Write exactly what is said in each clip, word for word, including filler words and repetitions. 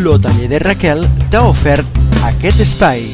L'Hoteler de Raquel t'ha ofert aquest espai.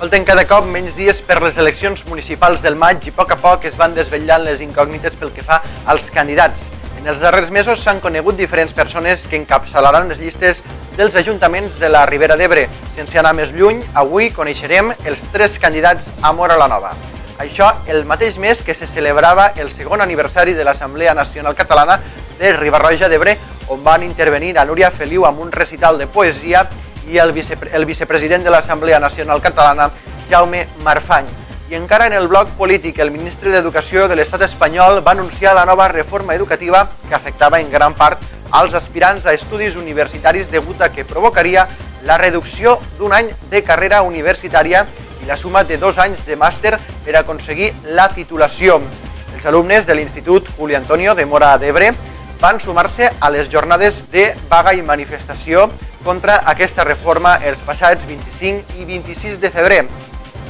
Falten cada cop menys dies per les eleccions municipals del maig i a poc a poc es van desvetllant les incògnites pel que fa als candidats. En els darrers mesos s'han conegut diferents persones que encapçalaran les llistes dels ajuntaments de la Ribera d'Ebre. Sense anar més lluny, avui coneixerem els tres candidats a Móra la Nova. Això el mateix mes que se celebrava el segon aniversari de l'Assemblea Nacional Catalana de Riba-roja d'Ebre, on van intervenir a Núria Feliu amb un recital de poesia i el, vice, el vicepresident de l'Assemblea Nacional Catalana, Jaume Marfany. I encara en el bloc polític, el ministre d'Educació de l'Estat espanyol va anunciar la nova reforma educativa que afectava en gran part als aspirants a estudis universitaris degut a que provocaria la reducció d'un any de carrera universitària i la suma de dos anys de màster per aconseguir la titulació. Els alumnes de l'Institut Juli Antonio de Móra d'Ebre van sumar-se a les jornades de vaga i manifestació contra aquesta reforma els passats vint-i-cinc i vint-i-sis de febrer.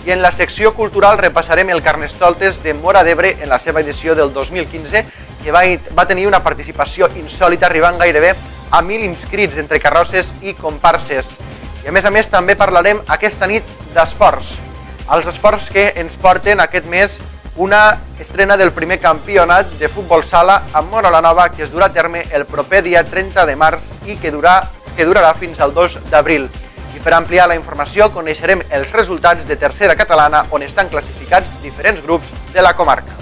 I en la secció cultural repassarem el Carnestoltes de Móra d'Ebre en la seva edició del dos mil quinze, que va, va tenir una participació insòlita arribant gairebé a mil inscrits entre carrosses i comparses. I a més a més també parlarem aquesta nit d'esports. Els esports que ens porten aquest mes una estrena del primer campionat de futbol sala a Móra la Nova que es durà a terme el proper dia trenta de març i que, durà, que durarà fins al dos d'abril. I per ampliar la informació coneixerem els resultats de tercera catalana on estan classificats diferents grups de la comarca.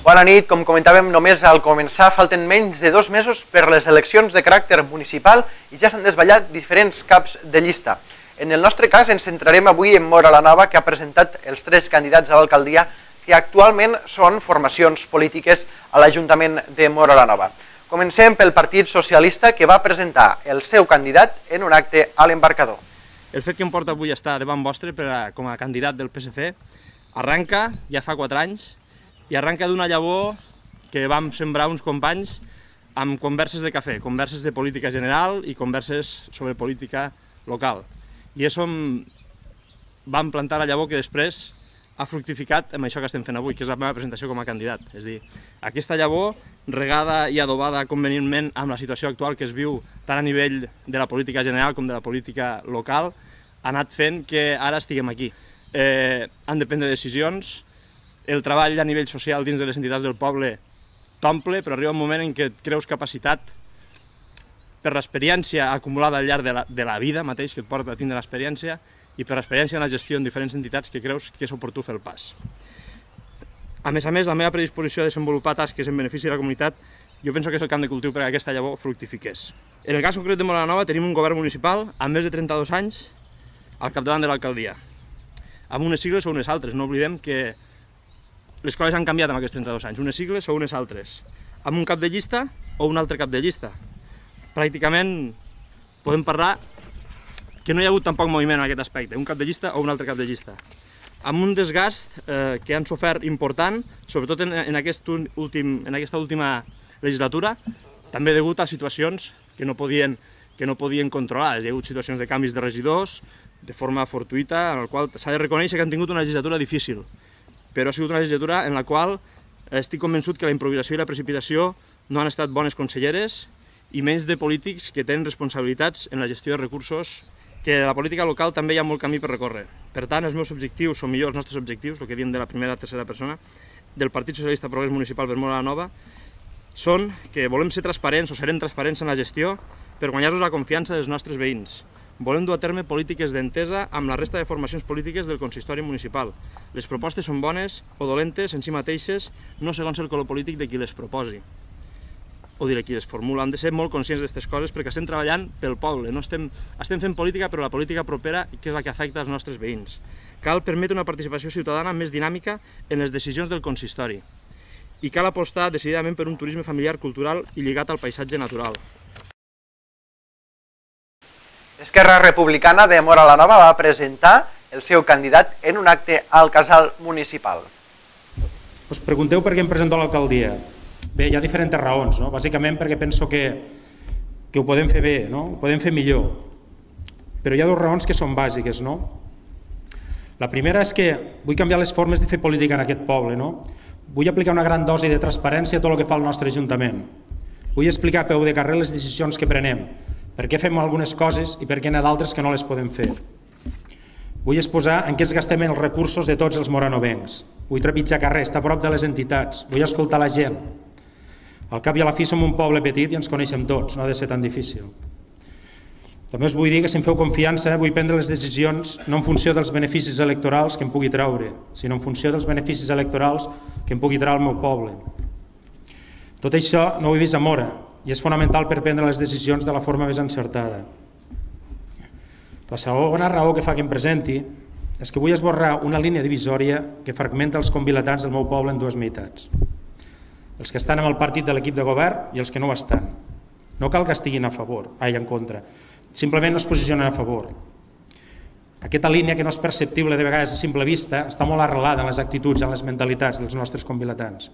Bona nit, com comentàvem només al començar, falten menys de dos mesos per les eleccions de caràcter municipal i ja s'han desvetllat diferents caps de llista. En el nostre cas ens centrarem avui en Móra la Nova, que ha presentat els tres candidats a l'alcaldia que actualment són formacions polítiques a l'Ajuntament de Móra la Nova. Comencem pel Partit Socialista, que va presentar el seu candidat en un acte a l'Embarcador. El fet que em porta avui a estar davant vostre per a, com a candidat del P S C arranca ja fa quatre anys i arranca d'una llavor que vam sembrar uns companys amb converses de cafè, converses de política general i converses sobre política local. I és on vam plantar la llavor que després ha fructificat amb això que estem fent avui, que és la meva presentació com a candidat. És a dir, aquesta llavor, regada i adobada convenientment amb la situació actual que es viu tant a nivell de la política general com de la política local, ha anat fent que ara estiguem aquí. Eh, han de prendre decisions, el treball a nivell social dins de les entitats del poble t'omple, però arriba un moment en què et creus capacitat per l'experiència acumulada al llarg de la, de la vida mateix que et porta a tindre l'experiència i per l'experiència en la gestió en diferents entitats que creus que és oportú fer el pas. A més a més, la meva predisposició a desenvolupar tasques en benefici de la comunitat jo penso que és el camp de cultiu perquè aquesta llavor fructifiqués. En el cas concret de Móra la Nova tenim un govern municipal amb més de trenta-dos anys al capdavant de l'alcaldia, amb unes sigles o unes altres. No oblidem que les coses han canviat en aquests trenta-dos anys, unes sigles o unes altres, amb un cap de llista o un altre cap de llista. Pràcticament podem parlar que no hi ha hagut tampoc moviment en aquest aspecte, un cap de llista o un altre cap de llista, amb un desgast eh, que han sofert important, sobretot en, en, aquest últim, en aquesta última legislatura, també degut a situacions que no podien, que no podien controlar. Hi ha hagut situacions de canvis de regidors de forma fortuïta, en el qual s'ha de reconèixer que han tingut una legislatura difícil, però ha sigut una legislatura en la qual estic convençut que la improvisació i la precipitació no han estat bones conselleres i menys de polítics que tenen responsabilitats en la gestió de recursos, que a la política local també hi ha molt camí per recórrer. Per tant, els meus objectius, o millor els nostres objectius, el que diem de la primera a tercera persona, del Partit Socialista Progrés Municipal per Móra la Nova, són que volem ser transparents o serem transparents en la gestió per guanyar-nos la confiança dels nostres veïns. Volem dur a terme polítiques d'entesa amb la resta de formacions polítiques del consistori municipal. Les propostes són bones o dolentes en si mateixes, no segons el color polític de qui les proposi. o dir qui les formula, han de ser molt conscients d'aquestes coses perquè estem treballant pel poble, no estem, estem fent política però la política propera que és la que afecta els nostres veïns. Cal permetre una participació ciutadana més dinàmica en les decisions del consistori i cal apostar decididament per un turisme familiar, cultural i lligat al paisatge natural. Esquerra Republicana de Móra la Nova va presentar el seu candidat en un acte al casal municipal. Us pregunteu per què em presento a l'alcaldia. Bé, hi ha diferents raons, no? Bàsicament perquè penso que, que ho podem fer bé, no? Ho podem fer millor. Però hi ha dues raons que són bàsiques, no? La primera és que vull canviar les formes de fer política en aquest poble, no? Vull aplicar una gran dosi de transparència a tot el que fa el nostre Ajuntament. Vull explicar a peu de carrer les decisions que prenem, per què fem algunes coses i per què n'hi ha d'altres que no les podem fer. Vull exposar en què es gastem els recursos de tots els moranovencs. Vull trepitjar carrer, estar a prop de les entitats, vull escoltar la gent. Al cap i a la fi som un poble petit i ens coneixem tots, no ha de ser tan difícil. També us vull dir que si em feu confiança vull prendre les decisions no en funció dels beneficis electorals que em pugui treure, sinó en funció dels beneficis electorals que em pugui treure el meu poble. Tot això no ho he vist a Móra i és fonamental per prendre les decisions de la forma més encertada. La segona raó que fa que em presenti és que vull esborrar una línia divisòria que fragmenta els convilatans del meu poble en dues meitats. Els que estan amb el partit de l'equip de govern i els que no ho estan. No cal que estiguin a favor, ai, en contra. Simplement no es posicionen a favor. Aquesta línia, que no és perceptible de vegades a simple vista, està molt arrelada en les actituds, en les mentalitats dels nostres convilatans.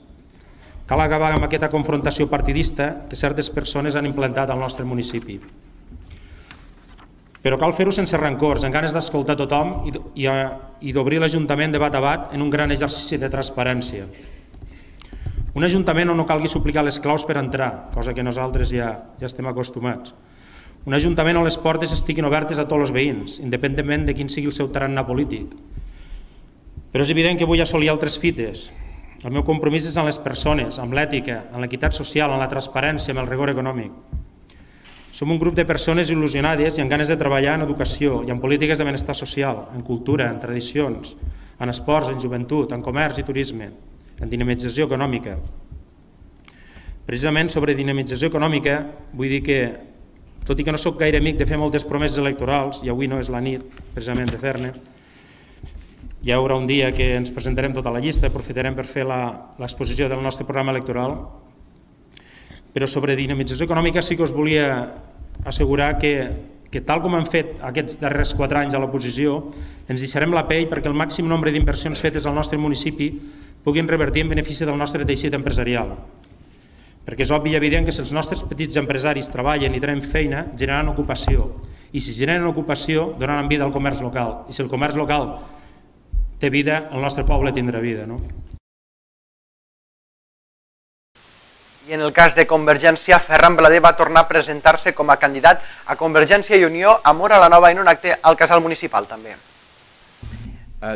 Cal acabar amb aquesta confrontació partidista que certes persones han implantat al nostre municipi. Però cal fer-ho sense rancors, amb ganes d'escoltar tothom i, i d'obrir l'Ajuntament de bat a bat en un gran exercici de transparència. Un Ajuntament on no calgui suplicar les claus per entrar, cosa que nosaltres ja, ja estem acostumats. Un Ajuntament on les portes estiguin obertes a tots els veïns, independentment de quin sigui el seu tarannà polític. Però és evident que vull assolir altres fites. El meu compromís és amb les persones, amb l'ètica, amb l'equitat social, amb la transparència, amb el rigor econòmic. Som un grup de persones il·lusionades i amb ganes de treballar en educació i en polítiques de benestar social, en cultura, en tradicions, en esports, en joventut, en comerç i turisme, en dinamització econòmica. Precisament sobre dinamització econòmica vull dir que, tot i que no sóc gaire amic de fer moltes promeses electorals, i avui no és la nit precisament de fer-ne, hi haurà un dia que ens presentarem tota la llista, aprofitarem per fer l'exposició del nostre programa electoral, però sobre dinamització econòmica sí que us volia assegurar que, que tal com hem fet aquests darrers quatre anys a l'oposició, ens deixarem la pell perquè el màxim nombre d'inversions fetes al nostre municipi puguin revertir en benefici del nostre teixit empresarial. Perquè és obvi i evident que si els nostres petits empresaris treballen i tenen feina, generaran ocupació. I si generen ocupació, donaran vida al comerç local. I si el comerç local té vida, el nostre poble tindrà vida, no? I en el cas de Convergència, Ferran Blader va tornar a presentar-se com a candidat a Convergència i Unió a Móra la Nova en un acte al casal municipal també.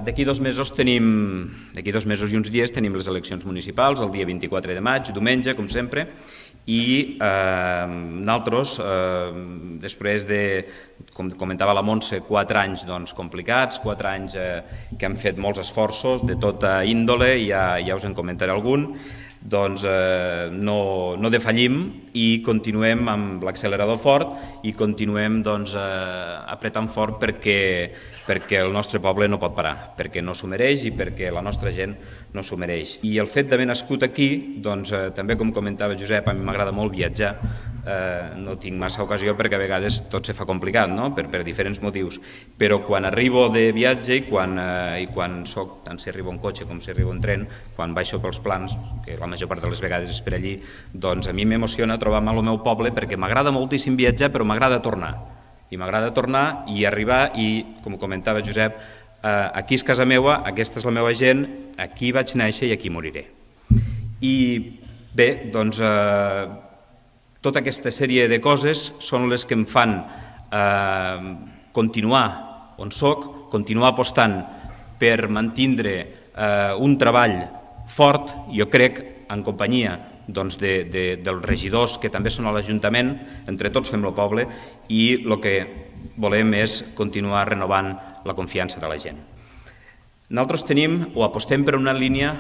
D'aquí dos mesos tenim, d'aquí dos mesos i uns dies tenim les eleccions municipals, el dia vint-i-quatre de maig, diumenge, com sempre, i eh, nosaltres, eh, després de, com comentava la Montse, quatre anys doncs, complicats, quatre anys eh, que han fet molts esforços de tota índole, ja, ja us en comentaré algun, doncs eh, no, no defallim i continuem amb l'accelerador fort i continuem doncs, eh, apretant fort perquè, perquè el nostre poble no pot parar, perquè no s'ho mereix i perquè la nostra gent no s'ho mereix. I el fet d'haver nascut aquí, doncs, eh, també com comentava Josep, a mi m'agrada molt viatjar, eh, no tinc massa ocasió perquè a vegades tot se fa complicat, no? per, per diferents motius, però quan arribo de viatge i quan, eh, i quan soc, tant si arribo en cotxe com si arribo en tren, quan baixo pels plans, que la major part de les vegades és per allí, doncs a mi m'emociona trobar-me al meu poble perquè m'agrada moltíssim viatjar, però m'agrada tornar. I m'agrada tornar i arribar i, com comentava Josep, eh, aquí és casa meva, aquesta és la meva gent, aquí vaig néixer i aquí moriré. I bé, doncs, eh, tota aquesta sèrie de coses són les que em fan eh, continuar on soc, continuar apostant per mantindre eh, un treball fort, jo crec, en companyia doncs, de, de, dels regidors que també són a l'Ajuntament, entre tots fem el poble i el que volem és continuar renovant la confiança de la gent. Nosaltres tenim o apostem per una línia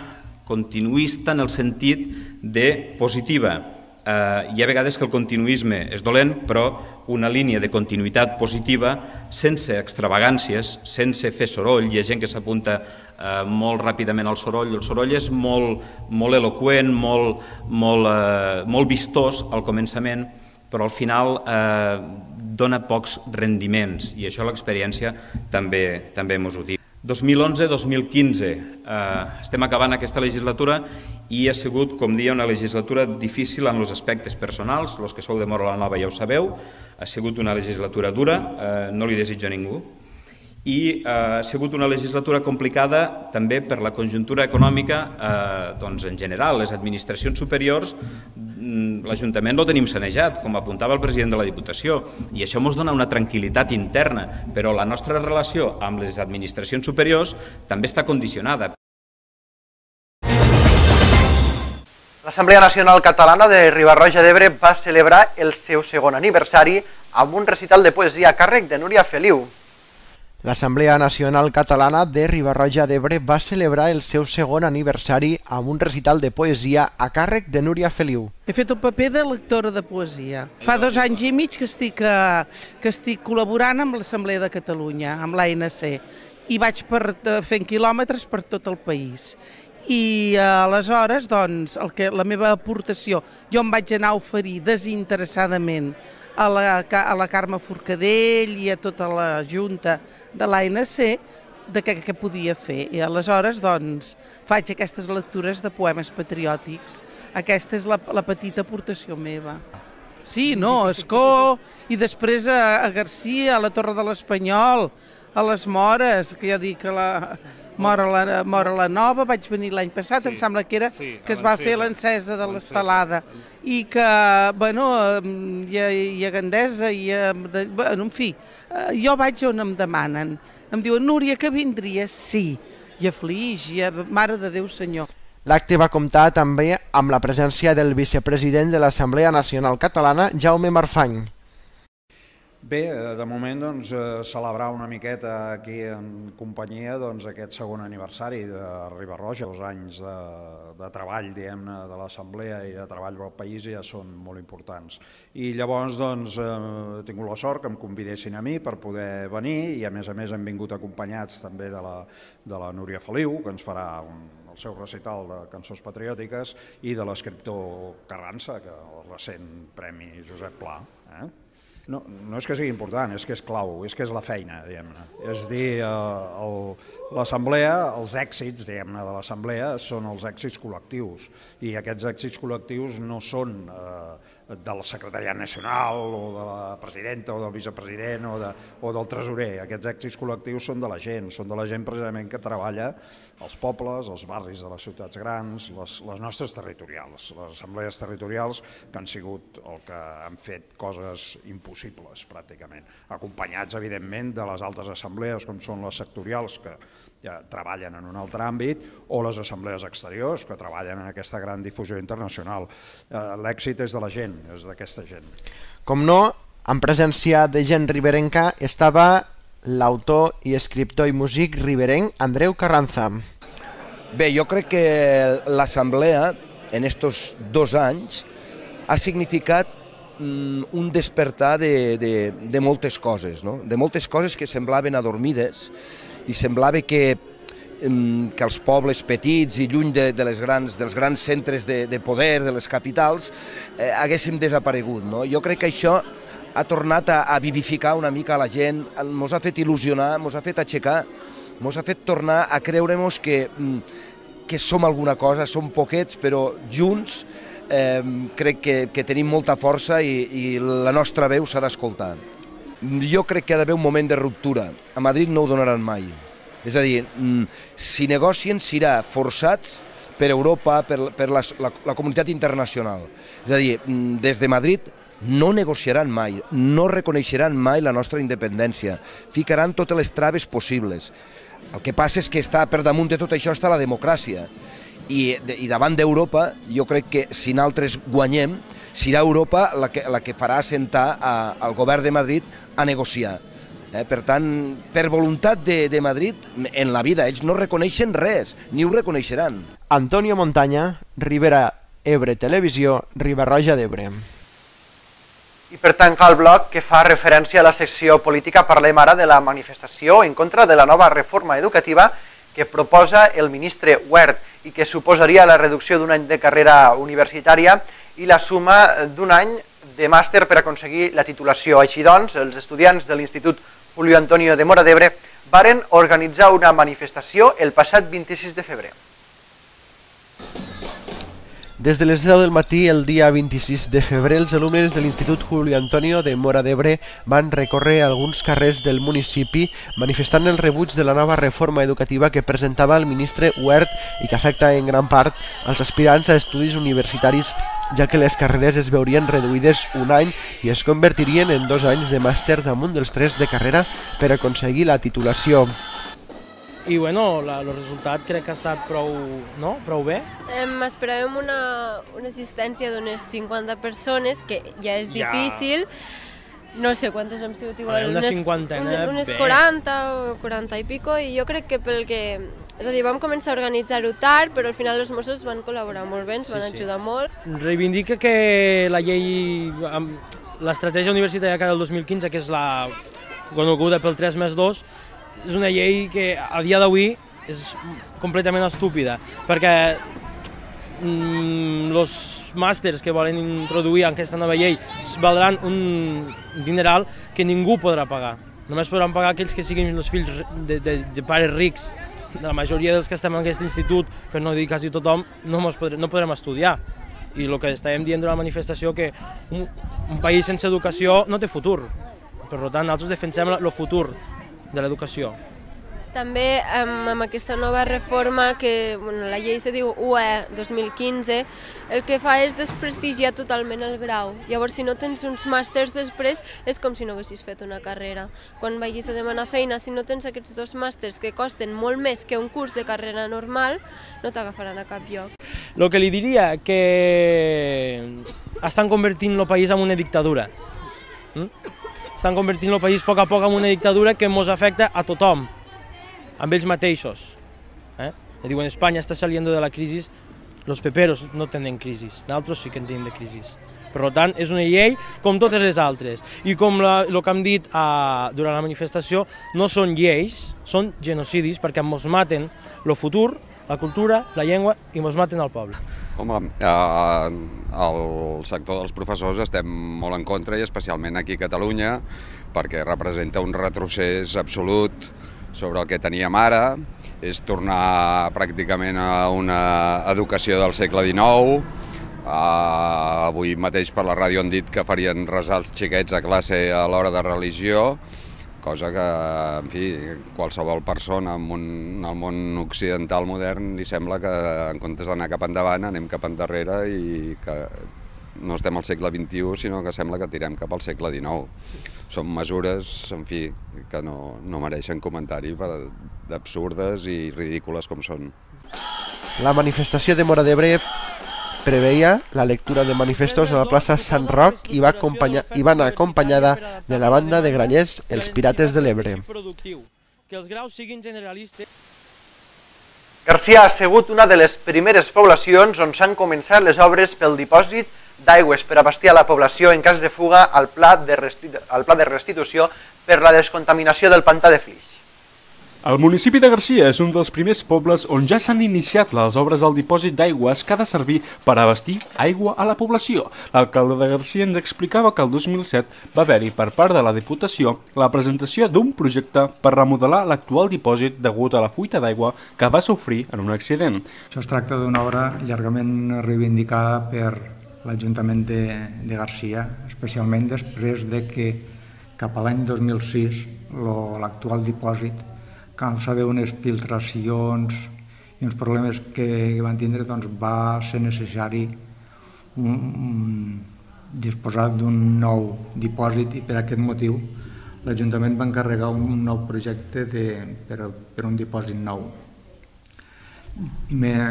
continuista en el sentit de positiva, Eh, hi ha vegades que el continuisme és dolent, però una línia de continuïtat positiva, sense extravagàncies, sense fer soroll. Hi ha gent que s'apunta eh, molt ràpidament al soroll. El soroll és molt, molt eloqüent, molt, molt, eh, molt vistós al començament, però al final eh, dona pocs rendiments, i això l'experiència també, també ens ho diu. dos mil onze dos mil quinze, eh, estem acabant aquesta legislatura i ha sigut, com deia, una legislatura difícil en els aspectes personals. Els que sou de Móra la Nova ja ho sabeu, ha sigut una legislatura dura, eh, no li desitjo a ningú, i eh, ha sigut una legislatura complicada també per la conjuntura econòmica eh, doncs, en general. Les administracions superiors, l'Ajuntament lo tenim sanejat, com apuntava el president de la Diputació, i això ens dona una tranquil·litat interna, però la nostra relació amb les administracions superiors també està condicionada. L'Assemblea Nacional Catalana de Riba-roja d'Ebre va celebrar el seu segon aniversari amb un recital de poesia a càrrec de Núria Feliu. L'Assemblea Nacional Catalana de Riba-roja d'Ebre va celebrar el seu segon aniversari amb un recital de poesia a càrrec de Núria Feliu. He fet el paper de lectora de poesia. Fa dos anys i mig que estic, que estic col·laborant amb l'Assemblea de Catalunya, amb l'A N C, i vaig per, fent quilòmetres per tot el país. I aleshores, doncs, el que, la meva aportació, jo em vaig anar a oferir desinteressadament a la, a la Carme Forcadell i a tota la Junta de l'A N C de què, què podia fer. I aleshores, doncs, faig aquestes lectures de poemes patriòtics. Aquesta és la, la petita aportació meva. Sí, no, a Escó, i després a, a Garcia, a la Torre de l'Espanyol, a les Mores, que ja dic que la... Móra la, Móra la Nova, vaig venir l'any passat, sí, em sembla que era sí, que es va fer l'encesa de l'estelada i que, bueno, hi ha, hi ha Gandesa, i ha, bueno, en fi, jo vaig on em demanen. Em diuen, Núria, que vindries? Sí, i a Flix, i a Mare de Déu Senyor. L'acte va comptar també amb la presència del vicepresident de l'Assemblea Nacional Catalana, Jaume Marfany. Bé, de moment doncs, celebrar una miqueta aquí en companyia doncs, aquest segon aniversari de Riba-roja, dos anys de, de treball, diguem-ne, de l'Assemblea i de treball pel país ja són molt importants. I llavors doncs, he tingut la sort que em convidessin a mi per poder venir i a més a més hem vingut acompanyats també de la, de la Núria Feliu, que ens farà un, el seu recital de cançons patriòtiques, i de l'escriptor Carranza, que el recent Premi Josep Pla. Eh? No, no és que sigui important, és que és clau, és que és la feina, diguem-ne. És dir, l'assemblea, els èxits, diguem-ne, de l'assemblea són els èxits col·lectius i aquests èxits col·lectius no són del secretariat nacional o de la presidenta o del vicepresident o, de, o del tresorer. Aquests èxits col·lectius són de la gent, són de la gent precisament que treballa als pobles, als barris de les ciutats grans, les, les nostres territorials, les assemblees territorials que han sigut el que han fet coses impossibles pràcticament, acompanyats evidentment de les altres assemblees com són les sectorials que ja treballen en un altre àmbit, o les assemblees exteriors que treballen en aquesta gran difusió internacional. L'èxit és de la gent, és d'aquesta gent. Com no, en presència de gent riberenca estava l'autor i escriptor i músic riberenc Andreu Carranza. Bé, jo crec que l'assemblea en estos dos anys ha significat un despertar de, de, de moltes coses, no? De moltes coses que semblaven adormides i semblava que, que els pobles petits i lluny de, de les grans, dels grans centres de, de poder, de les capitals, eh, haguéssim desaparegut. No? Jo crec que això ha tornat a, a vivificar una mica a la gent, ens ha fet il·lusionar, ens ha fet aixecar, ens ha fet tornar a creure-nos que, que som alguna cosa, som poquets, però junts eh, crec que, que tenim molta força i, i la nostra veu s'ha d'escoltar. Jo crec que hi ha d'haver un moment de ruptura. A Madrid no ho donaran mai. És a dir, si negocien serà forçats per Europa, per, per la, la, la comunitat internacional. És a dir, des de Madrid no negociaran mai, no reconeixeran mai la nostra independència, ficaran totes les traves possibles. El que passa és que està per damunt de tot això està la democràcia. I, i davant d'Europa, jo crec que si nosaltres guanyem, serà Europa la que, la que farà assentar a, al govern de Madrid a negociar. Eh, per tant, per voluntat de, de Madrid, en la vida ells no reconeixen res, ni ho reconeixeran. Antonio Montaña, Rivera Ebre Televisió, Riba-roja d'Ebre. I per tancar el bloc que fa referència a la secció política, parlem ara de la manifestació en contra de la nova reforma educativa que proposa el ministre Wert i que suposaria la reducció d'un any de carrera universitària i la suma d'un any de màster per aconseguir la titulació. Així doncs, els estudiants de l'Institut Julio Antonio de Móra d'Ebre varen organitzar una manifestació el passat vint-i-sis de febrer. Des de les deu del matí, el dia vint-i-sis de febrer, els alumnes de l'Institut Julio Antonio de Móra d'Ebre van recórrer alguns carrers del municipi manifestant el rebuig de la nova reforma educativa que presentava el ministre Wert i que afecta en gran part als aspirants a estudis universitaris, ja que les carreres es veurien reduïdes un any i es convertirien en dos anys de màster damunt dels tres de carrera per aconseguir la titulació. I bueno, la, el resultat crec que ha estat prou, no? prou bé. Em esperàvem una, una assistència d'unes cinquanta persones, que ja és Ja. difícil. No sé quantes hem sigut igual. A veure, una unes- cinquantena, unes, unes bé. quaranta o quaranta i pico, i jo crec que pel que... És a dir, vam començar a organitzar-ho tard, però al final els Mossos van col·laborar molt bé, ens van Sí, sí. ajudar molt. Reivindica que la llei, amb l'estratègia universitària que era el dos mil quinze, que és la coneguda pel tres més dos, és una llei que a dia d'avui és completament estúpida, perquè els màsters que volen introduir en aquesta nova llei valdran un dineral que ningú podrà pagar. Només podran pagar aquells que siguin els fills de, de, de pares rics. La majoria dels que estem en aquest institut, per no dir quasi tothom, no, podrem, no podrem estudiar. I el que estàvem dient durant la manifestació que un, un país sense educació no té futur. Per tant, nosaltres defensem el futur de l'educació. També amb, amb aquesta nova reforma, que bueno, la llei se diu U E dos mil quinze, el que fa és desprestigiar totalment el grau. Llavors, si no tens uns màsters després, és com si no haguessis fet una carrera. Quan vagis a demanar feina, si no tens aquests dos màsters que costen molt més que un curs de carrera normal, no t'agafaran a cap lloc. El que li diria que estan convertint el país en una dictadura. Mm? Estan convertint el país a poc a poc en una dictadura que ens afecta a tothom, amb ells mateixos. Eh? Diuen, Espanya està saliendo de la crisi, los peperos no tenen crisi, nosaltres sí que en tenim de crisi. Per tant, és una llei com totes les altres. I com la, el que hem dit a, durant la manifestació, no són lleis, són genocidis, perquè ens maten el futur, la cultura, la llengua i ens maten el poble. Home, eh, el sector dels professors estem molt en contra, i especialment aquí a Catalunya, perquè representa un retrocés absolut sobre el que teníem ara, és tornar pràcticament a una educació del segle dinou. Uh, avui mateix per la ràdio han dit que farien resar els xiquets a classe a l'hora de religió, cosa que, en fi, qualsevol persona en un, el món occidental modern li sembla que en comptes d'anar cap endavant anem cap endarrere i que no estem al segle vint-i-u, sinó que sembla que tirem cap al segle dinou. Són mesures, en fi, que no, no mereixen comentari, d'absurdes i ridícules com són. La manifestació de Móra d'Ebre preveia la lectura de manifestos a la plaça Sant Roc i va, acompanyar, i va anar acompanyada de la banda de Granyers, els Pirates de l'Ebre. Que els graus siguin generalistes. Garcia ha sigut una de les primeres poblacions on s'han començat les obres pel dipòsit d'aigües per abastir a la població en cas de fuga al pla de, al pla de restitució per la descontaminació del pantà de Flix. El municipi de Garcia és un dels primers pobles on ja s'han iniciat les obres del dipòsit d'aigües que ha de servir per abastir aigua a la població. L'alcalde de Garcia ens explicava que el dos mil set va haver-hi per part de la Diputació la presentació d'un projecte per remodelar l'actual dipòsit degut a la fuita d'aigua que va sofrir en un accident. Això es tracta d'una obra llargament reivindicada per l'Ajuntament de, de Garcia, especialment després de que cap a l'any dos mil sis l'actual dipòsit, a causa d'unes filtracions i uns problemes que van tindre, doncs va ser necessari un, un, disposar d'un nou dipòsit, i per aquest motiu l'Ajuntament va encarregar un nou projecte de, per, per un dipòsit nou.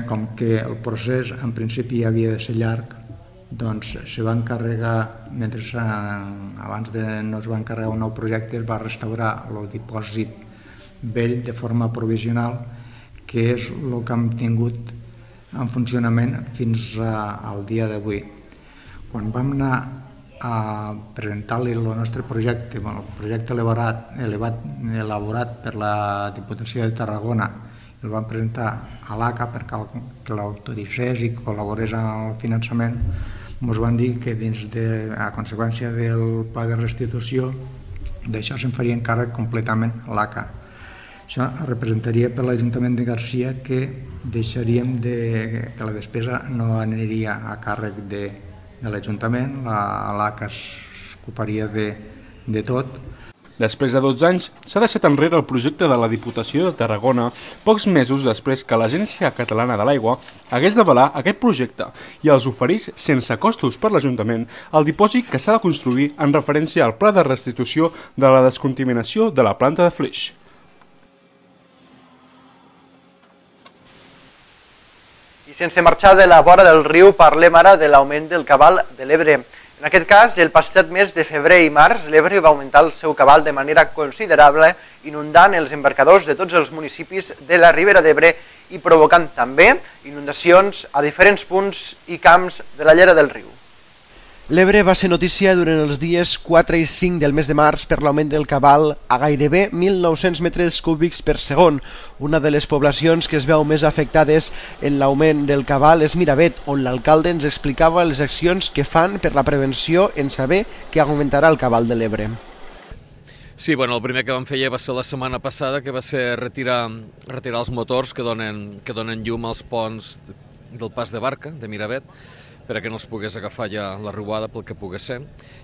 Com que el procés en principi havia de ser llarg, doncs se va encarregar, mentre abans de no es va encarregar un nou projecte, es va restaurar el dipòsit vell de forma provisional, que és el que hem tingut en funcionament fins al dia d'avui. Quan vam anar a presentar-li el nostre projecte, el projecte elaborat, elevat, elaborat per la Diputació de Tarragona, el vam presentar a l'A C A perquè l'autoritzés i col·laborés en el finançament, ens van dir que dins de, a conseqüència del pla de restitució, d'això se'n faria encàrrec completament l'A C A. Això representaria per l'Ajuntament de Garcia que deixaríem de, que la despesa no aniria a càrrec de, de l'Ajuntament, l'A C A s'ocuparia de, de tot. Després de dotze anys, s'ha deixat enrere el projecte de la Diputació de Tarragona pocs mesos després que l'Agència Catalana de l'Aigua hagués d'avalar aquest projecte i els oferís sense costos per l'Ajuntament el dipòsit que s'ha de construir en referència al pla de restitució de la descontaminació de la planta de Flix. I sense marxar de la vora del riu, parlem ara de l'augment del cabal de l'Ebre. En aquest cas, el passat mes de febrer i març, l'Ebre va augmentar el seu cabal de manera considerable, inundant els embarcadors de tots els municipis de la Ribera d'Ebre i provocant també inundacions a diferents punts i camps de la llera del riu. L'Ebre va ser notícia durant els dies quatre i cinc del mes de març per l'augment del cabal a gairebé mil nou-cents metres cúbics per segon. Una de les poblacions que es veu més afectades en l'augment del cabal és Miravet, on l'alcalde ens explicava les accions que fan per la prevenció en saber que augmentarà el cabal de l'Ebre. Sí, bueno, el primer que vam fer ja va ser la setmana passada, que va ser retirar, retirar els motors que donen, que donen llum als ponts del pas de barca de Miravet, perquè no es pogués agafar ja la riuada pel que pogués ser.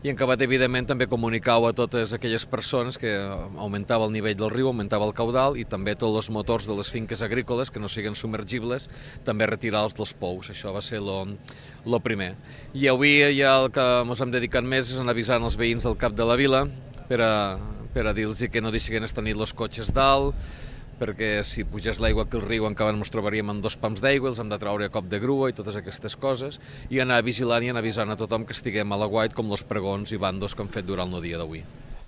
I en acabat, evidentment, també comunicau a totes aquelles persones que augmentava el nivell del riu, augmentava el caudal, i també tots els motors de les finques agrícoles que no siguin submergibles, també retirar-los dels pous. Això va ser el primer. I avui ja el que ens hem dedicat més és en avisant els veïns del cap de la vila per a, per a dir-los que no deixin estar nit els cotxes dalt, perquè si pugés l'aigua aquí al riu encara ens trobaríem amb dos pams d'aigua, els hem de traure a cop de grua i totes aquestes coses, i anar vigilant i anar avisant a tothom que estiguem a l'aguait com els pregons i bandos que han fet durant el dia d'avui.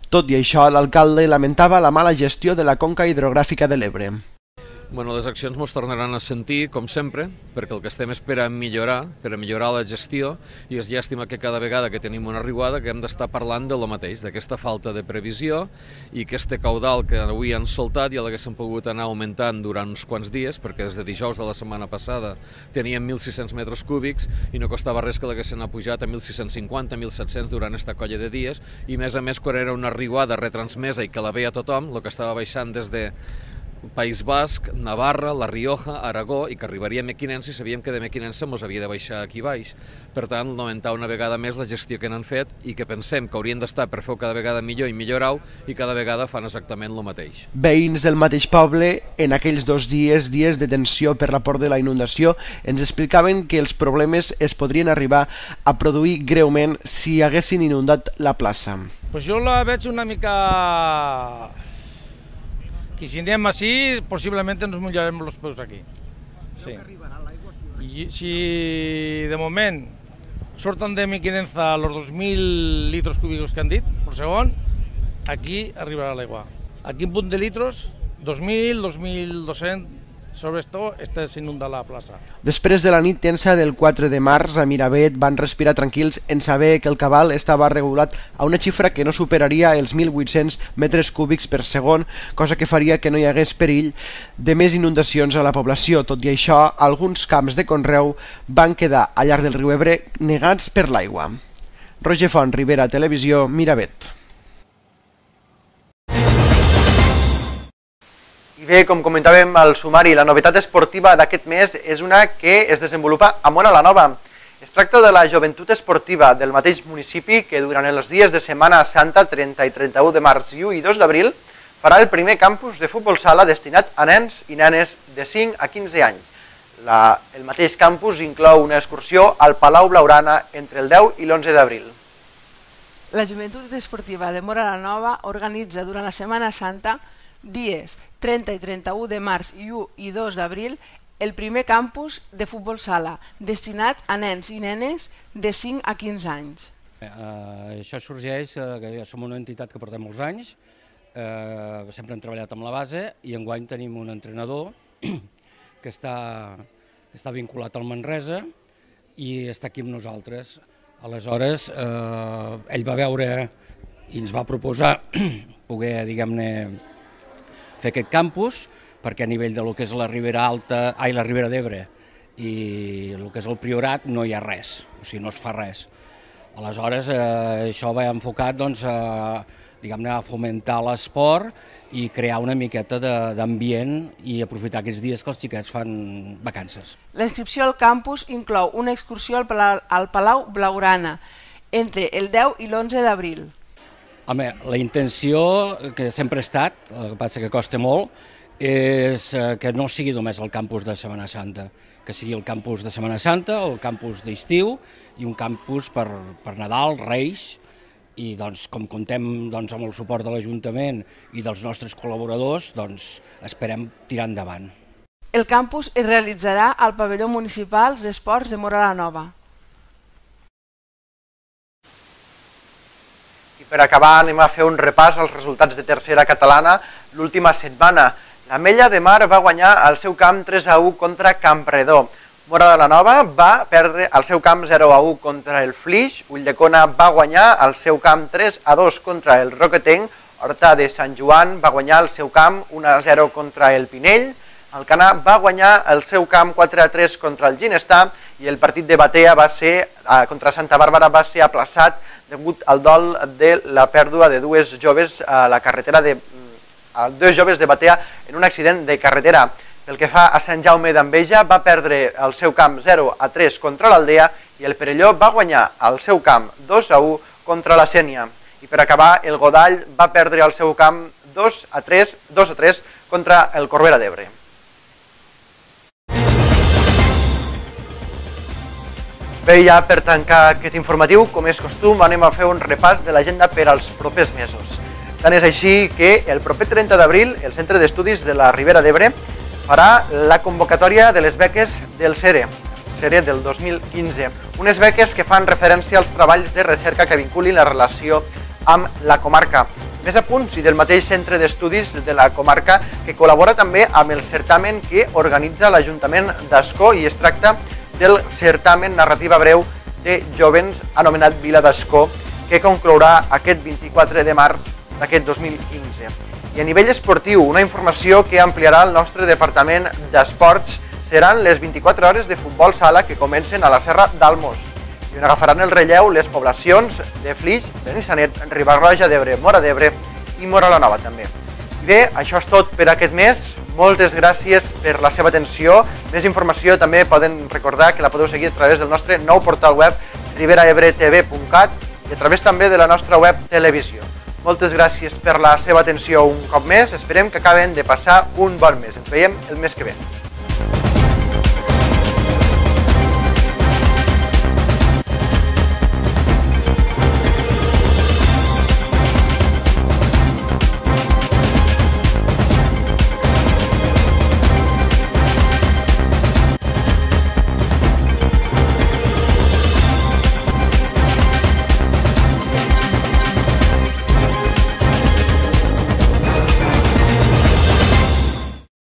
Tot i això, l'alcalde lamentava la mala gestió de la conca hidrogràfica de l'Ebre. Bueno, les accions ens tornaran a sentir, com sempre, perquè el que estem és per a millorar, per a millorar la gestió, i és llàstima que cada vegada que tenim una riuada que hem d'estar parlant de lo mateix, d'aquesta falta de previsió i aquest caudal que avui han soltat ja l'haguéssim pogut anar augmentant durant uns quants dies, perquè des de dijous de la setmana passada teníem mil sis-cents metres cúbics i no costava res que l'haguessin pujat a mil sis-cents cinquanta, mil set-cents durant aquesta colla de dies, i més a més quan era una riuada retransmesa i que la veia tothom, el que estava baixant des de País Basc, Navarra, La Rioja, Aragó, i que arribaria a Mequinensa i sabíem que de Mequinensa ens havia de baixar aquí baix. Per tant, lamentar una vegada més la gestió que n'han fet i que pensem que haurien d'estar per fer-ho cada vegada millor i millorar-ho, i cada vegada fan exactament el mateix. Veïns del mateix poble, en aquells dos dies, dies de tensió per la por de la inundació, ens explicaven que els problemes es podrien arribar a produir greument si haguessin inundat la plaça. Pues jo la veig una mica... que si anem així, possiblement ens mullarem els peus aquí. Sí. I si de moment surten de Mequinensa els dos mil litros cúbicos que han dit per segon, aquí arribarà l'aigua. Aquí en punt de litros, dos mil, dos mil dos-cents, sobre esto s'inunda la plaça. Després de la nit tensa del quatre de març, a Miravet van respirar tranquils en saber que el cabal estava regulat a una xifra que no superaria els mil vuit-cents metres cúbics per segon, cosa que faria que no hi hagués perill de més inundacions a la població. Tot i això, alguns camps de conreu van quedar al llarg del riu Ebre negats per l'aigua. Roger Font, Ribera Televisió, Miravet. I bé, com comentàvem al sumari, la novetat esportiva d'aquest mes és una que es desenvolupa a Móra la Nova. Es tracta de la joventut esportiva del mateix municipi que durant els dies de Setmana Santa, trenta i trenta-u de març i u i dos d'abril, farà el primer campus de futbol sala destinat a nens i nenes de cinc a quinze anys. La, el mateix campus inclou una excursió al Palau Blaugrana entre el deu i l'onze d'abril. La joventut esportiva de Móra la Nova organitza durant la Setmana Santa, dies trenta i trenta-u de març i u i dos d'abril, el primer campus de futbol sala destinat a nens i nenes de cinc a quinze anys. Eh, això sorgeix, eh, que som una entitat que portem molts anys, eh, sempre hem treballat amb la base i enguany tenim un entrenador que està està vinculat al Manresa i està aquí amb nosaltres. Aleshores, eh, ell va veure i ens va proposar poder, diguem-ne, fer aquest campus, perquè a nivell de lo que és la Ribera Alta, ai, la Ribera d'Ebre i el que és el Priorat no hi ha res, o sigui, no es fa res. Aleshores, eh, això va enfocat, doncs, a, diguem-ne, a fomentar l'esport i crear una miqueta d'ambient i aprofitar aquests dies que els xiquets fan vacances. La inscripció al campus inclou una excursió al Palau, al Palau Blaugrana entre el deu i l'onze d'abril. Home, la intenció, que sempre ha estat, el que passa que costa molt, és que no sigui només el campus de Setmana Santa, que sigui el campus de Setmana Santa, el campus d'estiu i un campus per, per Nadal, Reis, i doncs, com contem doncs, amb el suport de l'Ajuntament i dels nostres col·laboradors, doncs, esperem tirar endavant. El campus es realitzarà al pavelló municipal d'esports de Móra la Nova. I per acabar anem a fer un repàs als resultats de tercera catalana l'última setmana. L'Ametlla de Mar va guanyar al seu camp tres a u contra Campredó. Móra de la Nova va perdre al seu camp zero a u contra el Flix, Ulldecona va guanyar al seu camp tres a dos contra el Roquetenc, Horta de Sant Joan va guanyar al seu camp un a zero contra el Pinell, Alcanar va guanyar al seu camp quatre a tres contra el Ginestar i el partit de Batea va ser, contra Santa Bàrbara va ser aplaçat degut al dol de la pèrdua de dues joves a la carretera de dos joves de Batea en un accident de carretera. Pel que fa a Sant Jaume d'Enveja, va perdre el seu camp zero a tres contra l'Aldea i el Perelló va guanyar al seu camp dos a u contra la Sénia. I per acabar, el Godall va perdre al seu camp dos a tres contra el Corbera d'Ebre. Bé, ja per tancar aquest informatiu, com és costum, anem a fer un repàs de l'agenda per als propers mesos. Tant és així que el proper trenta d'abril el Centre d'Estudis de la Ribera d'Ebre farà la convocatòria de les beques del CERE, CERE del dos mil quinze, unes beques que fan referència als treballs de recerca que vinculin la relació amb la comarca. Més apunts i del mateix Centre d'Estudis de la comarca que col·labora també amb el certamen que organitza l'Ajuntament d'Ascó i es tracta del certamen narrativa breu de jovens anomenat Vila d'Ascó que conclourà aquest vint-i-quatre de març d'aquest dos mil quinze. I a nivell esportiu, una informació que ampliarà el nostre Departament d'Esports seran les vint-i-quatre hores de futbol sala que comencen a la Serra d'Almos i on agafaran el relleu les poblacions de Flix, Benissanet, Riba-roja d'Ebre, Móra d'Ebre i Móra la Nova també. I bé, això és tot per aquest mes. Moltes gràcies per la seva atenció. Més informació també poden recordar que la podeu seguir a través del nostre nou portal web ribera ebre t v punt cat i a través també de la nostra web televisió. Moltes gràcies per la seva atenció un cop més. Esperem que acaben de passar un bon mes. Ens veiem el mes que ve.